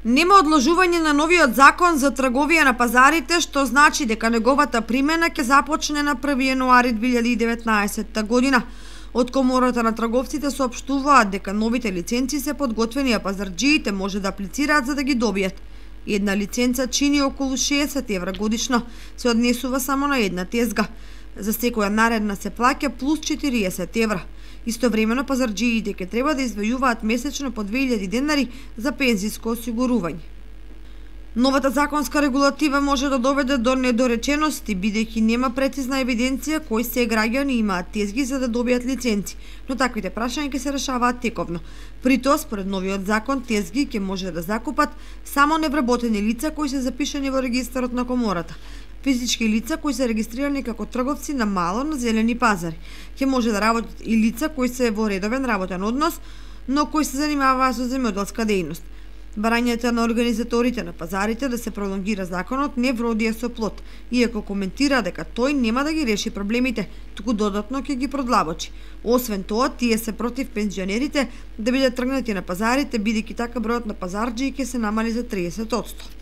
Нема одложување на новиот закон за трговија на пазарите, што значи дека неговата примена ќе започне на 1 јануари 2019 година. Од Комората на трговците соопштуваат дека новите лиценци се подготвени, а пазарџиите може да аплицираат за да ги добијат. Една лиценца чини околу 60 евра годишно, се однесува само на една тезга. За секоја наредна се плаќа плюс 40 евра. Истовремено пазарџиите ќе треба да извајуваат месечно по 2000 денари за пензиско осигурување. Новата законска регулатива може да доведе до недоречености, бидејќи нема прецизна евиденција кои се граѓани имаат тезги за да добијат лиценци, но таквите прашања ќе се решаваат тековно. При тоа, според новиот закон, тезги ќе може да закупат само невработени лица кои се запишани во регистарот на Комората. Физички лица кои се регистрирани како трговци на мало на зелени пазари. Ќе може да работат и лица кои се во редовен работен однос, но кои се занимаваат со земјоделска дејност. Барањето на организаторите на пазарите да се пролонгира законот не вродија со плод, иако коментира дека тој нема да ги реши проблемите, туку додатно ќе ги продлабочи. Освен тоа, тие се против пензионерите да бидат тргнати на пазарите, бидејќи така бројот на пазарџии ќе се намали за 30%.